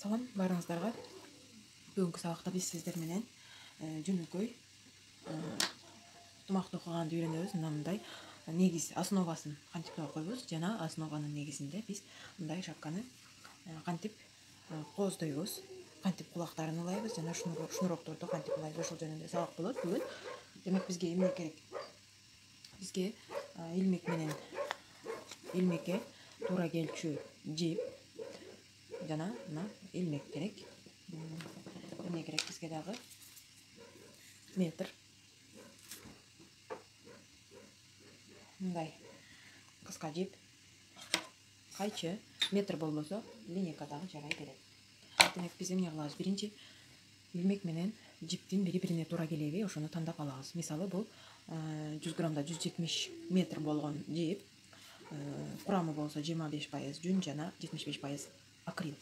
Салам баарыңыздарга. Бүгүнкү сабакта биз сиздер менен жөнөкөй тумакты окуганды үйрөнөбүз. Мындай негиз основасын кантип окуйбуз жана основанын негизинде биз мындай шапканы кантип кооздойбуз, кантип кулактарын улайбыз жана шнурокторду кантип улайбыз, ошол жөнүндө сабак болот бүгүн. Демек бизге эмне керек? Бизге илмек менен илмекке туура келчү жип жана мына илмек керек. Эмне керек бизге дагы? Метр. Мындай кыска жип, кайчы. Метр болбосо линейка дагы жарай берет. Демек биз эмне кылабыз? Биринчи илмек менен жиптин бири-бирине туура келеби, ошону тандап алабыз. Мисалы бул 100 граммда 170 метр болгон жип, курамы болсо 25% жүн жана 75% акрил.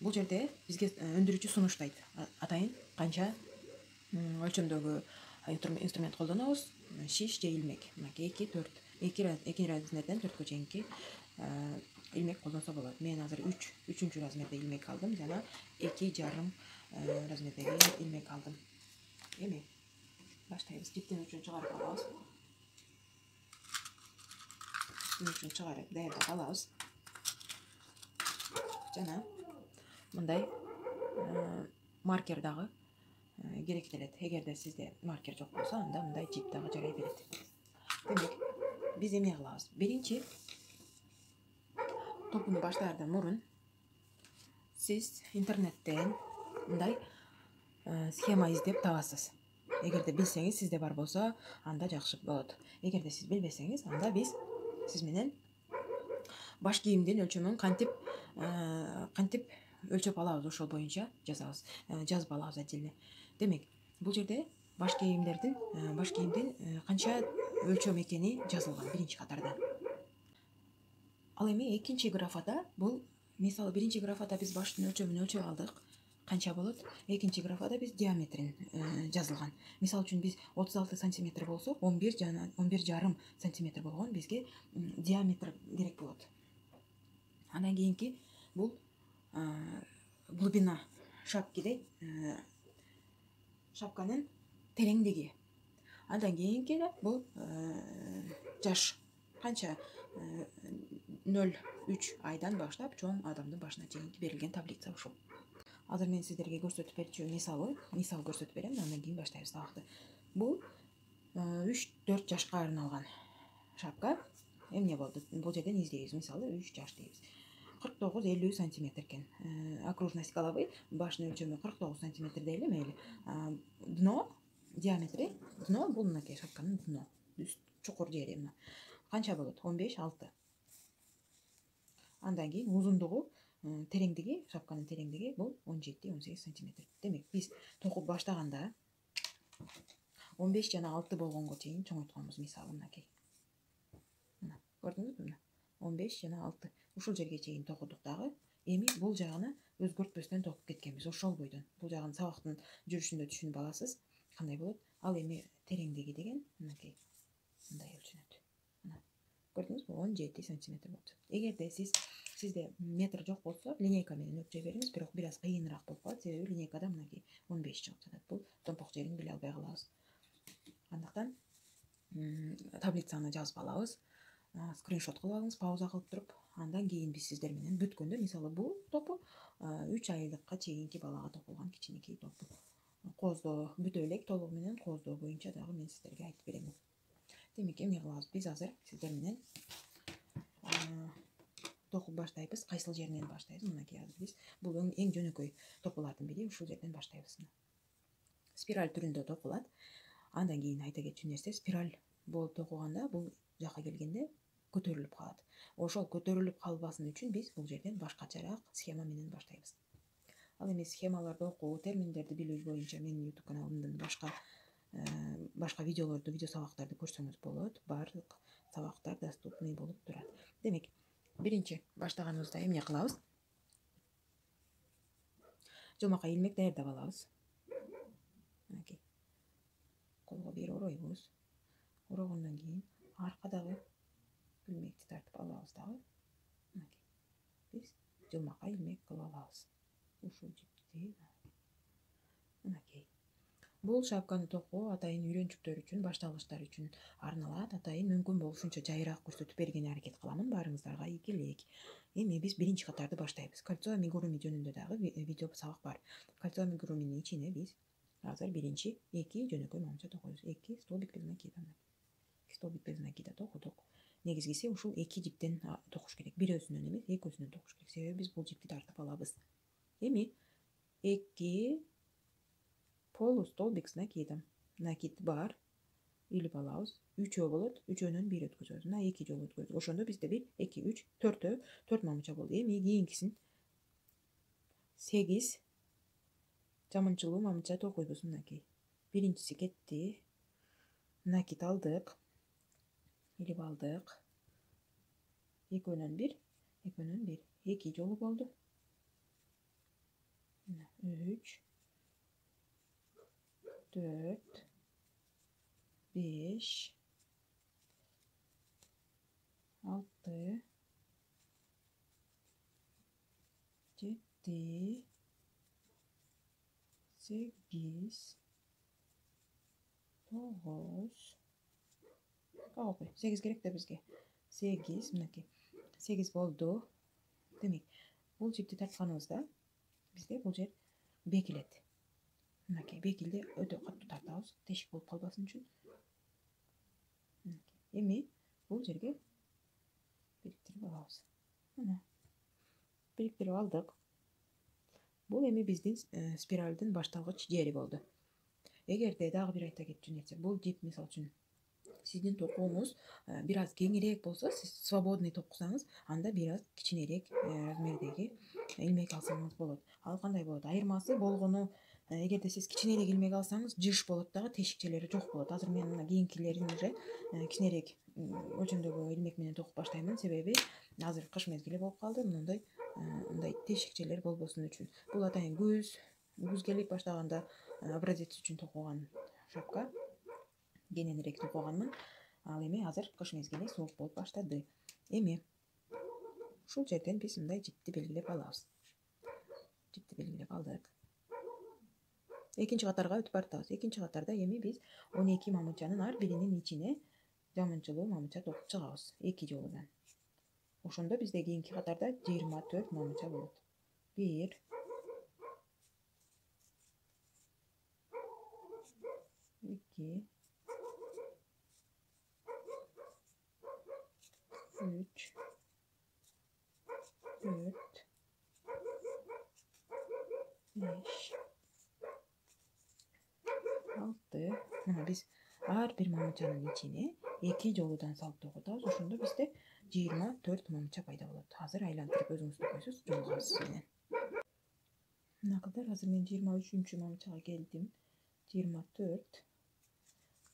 Бул жерде бизге өндүрүүчү сунуштайт. Атайын канча өлчөмдөгү инструмент колдонобуз, шиш же илмек. Мынакей 2 размерден 4кө чейинки илмек колдонсо болот. Мен азыр 3-үчүнчү размерде илмек алдым жана 2,5 размердеги илмек алдым. Эми баштайбыз. Жиптин учун чыгарып алабыз. Учун чыгарып даярдап алабыз. Жана мындай маркер дагы керектелет. Эгерде сизде маркер жок болсо, анда мындай жип дагы жарай берет. Демек, биз эмне кылабыз? Биринчи топуну баштаардан мурун сиз интернеттен мындай схема издеп табасыз. Эгерде билсеңиз, сизде бар болсо, анда жакшы болот. Эгерде сиз билбесеңиз, анда биз сиз менен баш кийимдин өлчөмүн кантип өлчөп алабыз, ошол боюнча жазып алабыз отдельно. Демек, бул жерде баш кийимдин канча өлчөм экени жазылган биринчи катарда. Ал эми экинчи графада бул, мисалы биринчи графада биз баштын өлчөмүн өлчөп алдык, канча болот? Экинчи графада биз диаметрин жазылган. Мисалы үчүн биз 36 сантиметр болсо, 11,5 сантиметр болгон бизге диаметр керек болот. Андан кийинки бул глубина шапкиде шапканын тереңдиги. Андан кийинки бул жаш канча 0,3 айдан баштап чоң адамдын башына чейинки берилген таблица ушул. Азыр мен сиздерге көрсөтүп берчү мисал көрсөтүп берем, андан кийин баштайбыз сабакты. Бул 3-4 жашка арналган шапка. Эмне болду? Бул жерден издейбиз. Мисалы 3 жаш дейбиз. 49-50 сантиметр экен. Окружность головы, башынын өлчөмү 49 сантиметр дейли, мейли. Дно, диаметри, дно бул мынакей шапканын дно. Чукур жери мына. Канча болот? 15,6. Андан кийин узундугу, тереңдиги, шапканын тереңдиги бул 17-18 сантиметр. Демек, биз токуп баштаганда 15 жана 6 болгонго чейин чоңойтконбуз, мисалы мынакей. Мына, көрдүңүзбү? Мына 15 жана 6. Ушул жерге чейин токудук дагы. Эми бул жагына өзгөртпөстөн токуп кеткенбиз, ошол бойдон. Бул жагын сабактын жүрүшүндө түшүнүп аласыз, кандай болот. Ал эми тереңдиги деген мынакей мындай өлчөнөт. Мына, көрдүңүзбү? 17 сантиметр болот. Эгерде сизде метр жок болсо, линейка менен өлчөй бериңиз, бирок бир аз кыйыныраак болуп калат, себеби линейкада мынакей 15 чыгып жатат. Бул томпок жерин биле албай калабыз. Андыктан таблицаны жазып алабыз. Скриншот кылып алыңыз, пауза кылып туруп, андан кийин биз сиздер менен бүткөндө, мисалы бул топу 3 айлыкка чейинки балага токулган кичинекей топ. Кооздоо бүтө элек толугу менен, кооздоо боюнча дагы мен сиздерге айтып берем. Демек, эмне кылабыз? Биз азыр сиздер менен токуп баштайбыз. Кайсыл жеринен баштайбыз? Мынакей азыр биз бул эң жөнөкөй топулардын бири, ушул жерден баштайбыз. Спираль түрүндө токулат. Андан кийин айта кетчү нерсе, спираль болуп токуганда бул жака келгенде көтөрүлүп калат. Ошол көтөрүлүп калбасын үчүн биз бул жерден башкачараак схема менен баштайбыз. Ал эми схемаларды окуу, терминдерди билүү боюнча менин YouTube каналымдын башка видеолорду, видео сабактарды көрсөңүз болот. Баардык сабактар доступный болуп турат. Демек, биринчи баштаганыбызда эмне кылабыз? Жомакай илмек даярдап алабыз. Мынакей. Колго бир оройбуз. Орогондон кийин аркадагы илмекти тартып алабыз дагы. Мынакей. Биз жылмакай илмек кылып алабыз. Бул шапканы токуу атайын үйрөнчүктөр үчүн, башталгычтар үчүн арналат. Атайын мүмкүн болушунча жайыраак көрсөтүп бергенге аракет кыламын, баарыңыздарга ийгилик. Эми биз биринчи катарды баштайбыз. Кольцо амигуруми жөнүндө дагы видео сабак бар. Кольцо амигуруминин ичине биз азыр биринчи 2 жөнөкөй момча токойбуз. 2 столбик без накида. 2 столбик без накида токудук. Негизгиси ушул 2 жиптен токуш керек. Бир өзүнөн эмес, 2 өзүнөн токуш керек. Себеби биз бул жипти тартып алабыз. Эми 2 полустолбик с накидом. Накид бар. Илип алабыз. 3 болот. 3-өнөн 1 өткөзөбүз. Мына 2 жолу өткөздүк. Ошондо бизде 1, 2, 3, 4 момча болду. Эми кийинкисин 8 жамынчылуу момча токойбуз. Мынакей. Биринчиси кетти. Накид алдык. Илип алдык. 2-өнөн 1, 2-өнөн 1. 2 жолу болду. 3 4 5 6 7 8 9 8 керек да бизге. 8 мынакей. 8 болду. Демек, бул жипти тартканыбызда бизде бул жер бекилет. Мынакей, бекилди өтө катуу тартабыз, тешик болуп калбасын үчүн. Эми бул жерге бириктирип алабыз. Мына. Бириктирип алдык. Бул эми биздин спиралдын башталгыч жери болду. Эгерде дагы бир айта кетчү нерсе, бул жип мисалы үчүн сиздин токууңуз бир аз кеңирээк болсо, сиз свободный токусаңыз, анда бир аз кичинерээк размердеги илмек алсаңыз болот. Ал кандай болот? Айырмасы болгону, эгерде сиз кичинерээк илмек алсаңыз, жыш болот дагы, тешикчелери жок болот. Азыр мен мына кийинкилеринже кичинерээк өлчөмдөгү илмек менен токуп баштаймын, себеби азыр кыш мезгили болуп калды, мындай тешикчелер болбосун үчүн. Бул атайын күз келип баштаганда образец үчүн токуган шапка. Кененирээк токуганмын. Ал эми азыр кыш мезгили суук болуп баштады. Эми ушул жерден биз мындай жипти белгилеп алабыз. Жипти белгилеп алдык. Экинчи катарга өтүп баратабыз. Экинчи катарда эми биз 12 момунчанын ар биринин ичине жамынчылуу момунча токуп чыгабыз 2 жолудан. Ошондо бизде кийинки катарда 24 момунча болот. 1 2 3 4 5 6. Мына биз ар бир момунчанын ичине 2 жолудан салып токутабыз. Ошондо бизде 24 момунча пайда болот. Азыр айлантырып өзүңүз токойсуз жолугасыз менен. Мына кыздар, азыр мен 23 момунчага келдим. 24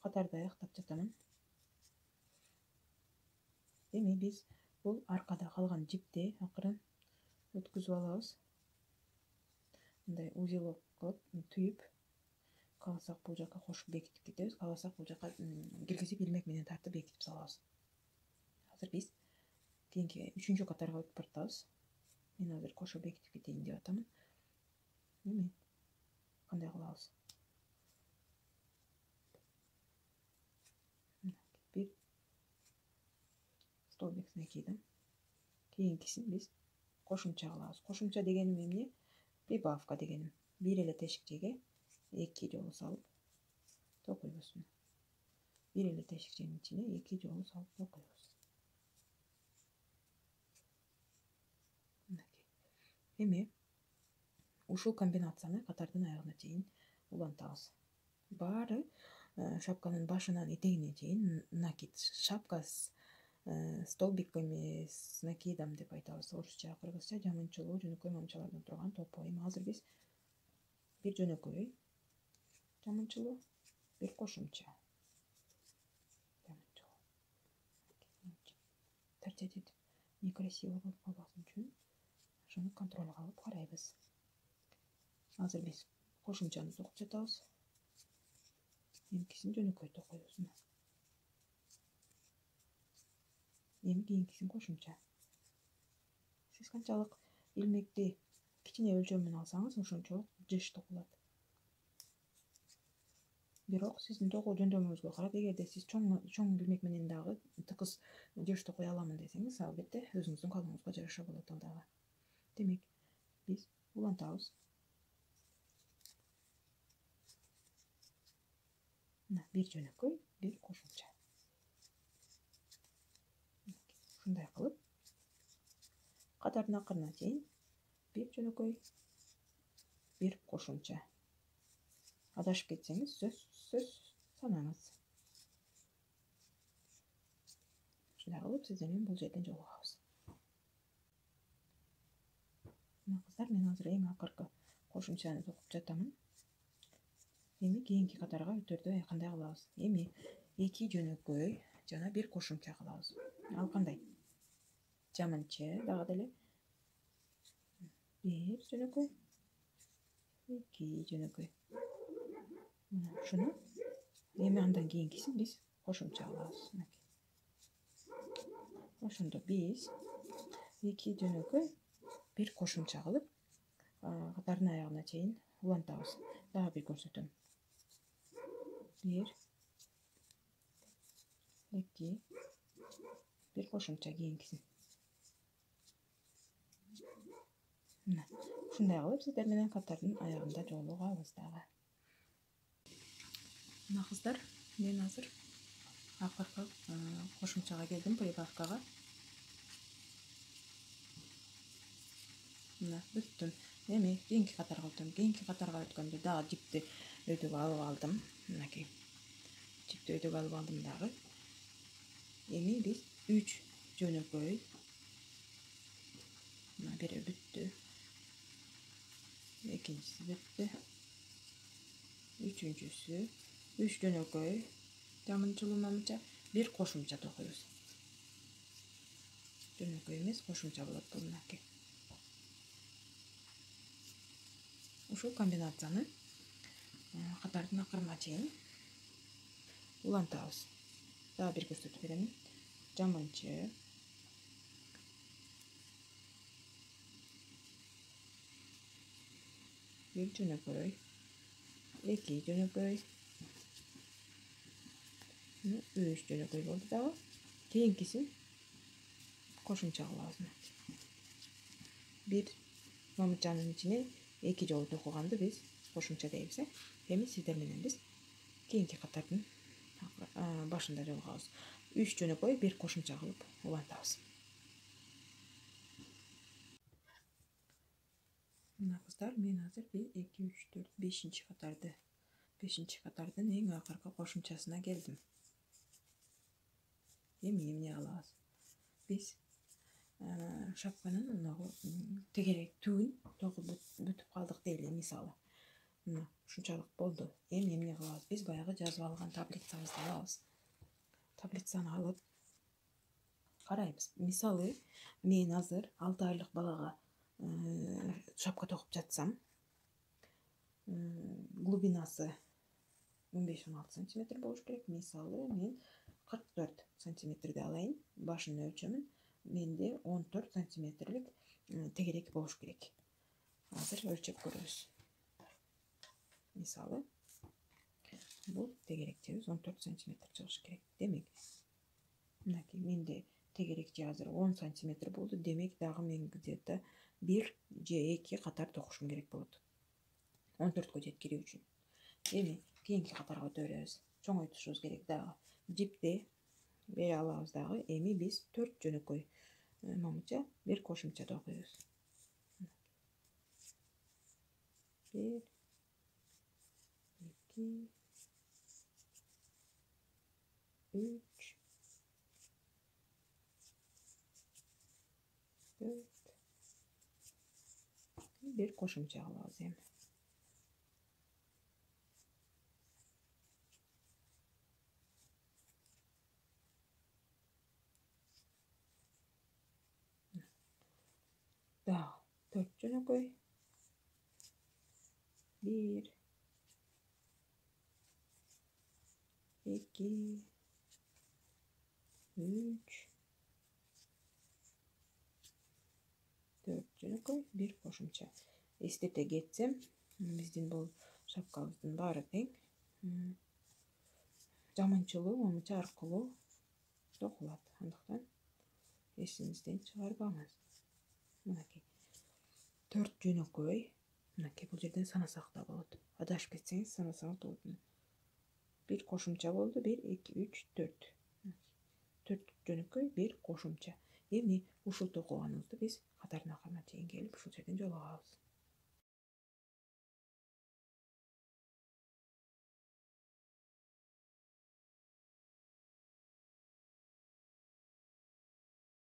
катарды аяктап жатамын. Эми биз бул аркада калган жипти акырын өткүзүп алабыз. Мындай узелок кылып түйүп, кааласак бул жака кошуп бекитип кетебиз, кааласак бул жака киргизип илмек менен тартып бекитип салабыз. Азыр биз кийинки 3-чү катарга өтүп баратабыз. Мен азыр кошо бекитип кетейин деп атамын. Эми кандай кылабыз? Бир столбик с накидом. Кийинкисин биз кошумча кылабыз. Кошумча дегеним эмне? Прибавка дегеним. Бир эле тешикчеге 2 жолу салып токойбуз. Бир эле тешикченин ичине 2 жолу салып токойбуз. Эми ушул комбинацияны катардын аягына чейин улантабыз. Баары шапканын башынан этегине чейин накид. Шапка столбиками с накидом деп айтабыз. Орусча, кыргызча жамынчылуу жөнөкөй момчалардан турган топу. Эми азыр биз бир жөнөкөй жамынчылуу, бир кошумча жамынчылуу. Торчать этип некрасиво болуп калбасын үчүн ошону контролго алып карайбыз. Азыр биз кошумчаны токуп жатабыз. Эмкисин жөнөкөй токойбуз. Эми кийинкисин кошумча. Сиз канчалык илмекти кичине өлчөм менен алсаңыз, ошончолук жыш токулат. Бирок сиздин токуу жөндөмүңүзгө карап, эгерде сиз чоң илмек менен дагы тыкыз жыш токуй аламын десеңиз, албетте өзүңүздүн калыбыңызга жараша болот ал дагы. Демек, биз улантабыз. Мына бир жөнөкөй, бир кошумча. Ушундай кылып, катардын акырына чейин бир жөнөкөй, бир кошумча. Адашып кетсеңиз, сөз санаңыз. Ушундай кылып, сиздер менен бул жерден жолугабыз. Мына кыздар, мен азыр эң акыркы кошумчаны токуп жатамын. Эми кийинки катарга өтөрдө кандай кылабыз? Эми 2 жөнөкөй жана 1 кошумча кылабыз. Ал кандай? Жаманчы дагы деле 1 жөнөкөй, 2 жөнөкөй. Мына ушуну эми андан кийинкисин биз кошумча кылабыз. Ошондо биз 2 жөнөкөй, 1 кошумча кылып, катардын аягына чейин улантабыз. Дагы бир көрсөтөм. 1, 2, 1 кошумча кийинкисин. Мына ушундай кылып, сиздер менен катардын аягында жолугабыз дагы. Мына кыздар, мен азыр акыркы кошумчага келдим, прибавкага. Мына бүттүм. Эми кийинки катарга өтөм. Кийинки катарга өткөндө дагы жипти өйдөгө алып алдым. Мынакей. Жипти өйдөгө алып алдым дагы. Эми биз 3 жөнөкөй. Мына бири бүттү. Экинчиси бүттү. Үчүнчүсү 3 жөнөкөй, жамынчылуу мамыча, 1 кошумча токуйбуз. Жөнөкөй эмес, кошумча болот бул мынакей. Ушул комбинацияны катардын акырына чейин улантабыз. Дагы бир көрсөтүп берем. Жаманчы, бир жөнөкөй, 2 жөнөкөй, 3 жөнөкөй болду дагы. Кийинкисин кошумча кылабыз. Бир мамычанын ичине 2 жолу токуганды биз кошумча дейбиз. Эми сиздер менен биз кийинки катардын башында жолугабыз. 3 жөнөкөй, 1 кошумча кылып улантабыз. Мына кыздар, мен азыр 1, 2, 3, 4, 5-чи катарды. 5-чи катардын эң акыркы кошумчасына келдим. Эми эмне кылабыз? Биз шапканын мына тегерек түбүн токуп бүтүп калдык дейли, мисалы. Мына ушунчалык болду. Эми эмне кылабыз? Биз баягы жазып алган таблицабызды алабыз. Таблицаны алып карайбыз. Мисалы, мен азыр 6 айлык балага шапка токуп жатсам, глубинасы 15-16 сантиметр болуш керек. Мисалы, мен 44 сантиметрди алайын, башын өлчөмүн. Менде 14 сантиметрлик тегерек болуш керек. Азыр өлчөп көрөбүз. Мисалы, бул тегерекчебиз 14 сантиметр чыгыш керек. Демек, мынакей менде тегерекче азыр 10 сантиметр болду. Демек, дагы мен где-то 1 же 2 катар токушум керек болот. 14кө жеткирүү үчүн. Эми кийинки катарга өтө беребиз. Чоңойтушубуз керек дагы. Жипти бере алабыз дагы. Эми биз 4 жөнөкөй мамыча, 1 кошумча токуйбуз. 1, 2, 3, 4, 1 кошумча кылабыз эми. Дагы 4 жөнөкөй, 1, 2, 3, 4 жөнөкөй, 1 кошумча. Эстете кетсем, биздин бул шапкабыздын баары тең жаманчылуу момунча аркылуу токулат. Андыктан эсиңизден чыгарбаңыз. Мынакей 4 жөнөкөй. Мынакей бул жерден санасак да болот. Адашып кетсеңиз санасаңыз болот. Bir кошумча болду. 1 2 3 4. 4 жөнөкөй, 1 кошумча. Эми ушул токуганыбызды биз катарына чейин келип ушул жерден жолугабыз.